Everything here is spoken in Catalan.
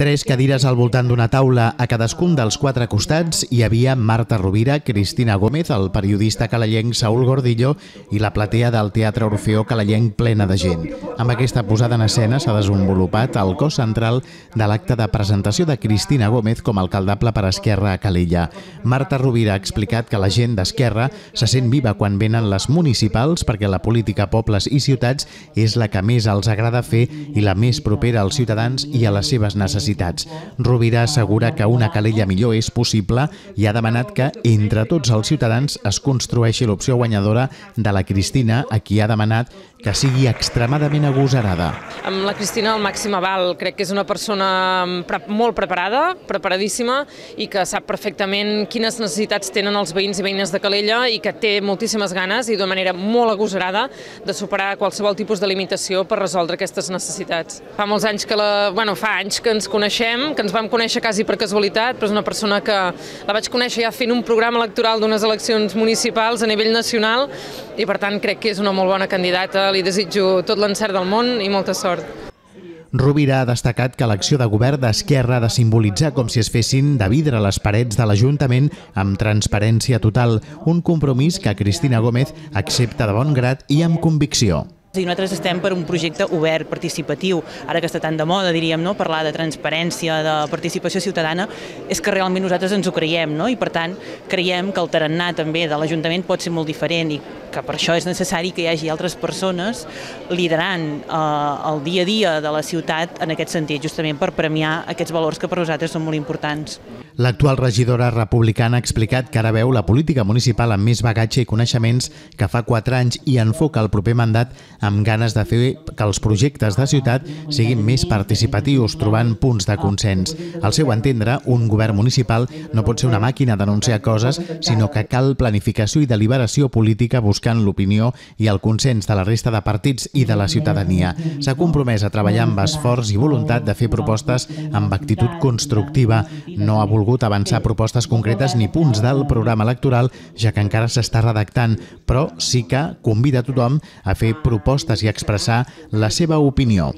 3 cadires al voltant d'una taula. A cadascun dels 4 costats hi havia Marta Rovira, Cristina Gómez, el periodista calellenc Saúl Gordillo i la platea del Teatre Orfeó calellenc plena de gent. Amb aquesta posada en escena s'ha desenvolupat el cos central de l'acte de presentació de Cristina Gómez com a alcaldable per Esquerra a Calella. Marta Rovira ha explicat que la gent d'Esquerra se sent viva quan venen les municipals perquè la política a pobles i ciutats és la que més els agrada fer i la més propera als ciutadans i a les seves necessitats. Rovira assegura que una Calella millor és possible i ha demanat que entre tots els ciutadans es construeixi l'opció guanyadora de la Cristina, a qui ha demanat que sigui extremadament agosarada. Amb la Cristina al màxim aval. Crec que és una persona molt preparada, preparadíssima, i que sap perfectament quines necessitats tenen els veïns i veïnes de Calella i que té moltíssimes ganes i d'una manera molt agosarada de superar qualsevol tipus de limitació per resoldre aquestes necessitats. Fa molts anys fa anys que ens coneixem, que ens vam conèixer quasi per casualitat, però és una persona que la vaig conèixer ja fent un programa electoral d'unes eleccions municipals a nivell nacional i per tant crec que és una molt bona candidata. Li desitjo tot l'encert del món i molta sort. Rovira ha destacat que l'acció de govern d'Esquerra ha de simbolitzar com si es fessin de vidre les parets de l'Ajuntament amb transparència total, un compromís que Cristina Gómez accepta de bon grat i amb convicció. Nosaltres estem per un projecte obert, participatiu. Ara que està tan de moda, diríem, parlar de transparència, de participació ciutadana, és que realment nosaltres ens ho creiem, i per tant creiem que el tarannà també de l'Ajuntament pot ser molt diferent i que per això és necessari que hi hagi altres persones liderant el dia a dia de la ciutat en aquest sentit, justament per premiar aquests valors que per nosaltres són molt importants. L'actual regidora republicana ha explicat que ara veu la política municipal amb més bagatge i coneixements que fa 4 anys i enfoca el proper mandat amb ganes de fer que els projectes de ciutat siguin més participatius, trobant punts de consens. Al seu entendre, un govern municipal no pot ser una màquina d'anunciar coses, sinó que cal planificació i deliberació política buscant l'opinió i el consens de la resta de partits i de la ciutadania. S'ha compromès a treballar amb esforç i voluntat de fer propostes amb actitud constructiva. No ha volgut avançar propostes concretes ni punts del programa electoral, ja que encara s'està redactant, però sí que convida a tothom a fer propostes i expressar la seva opinió.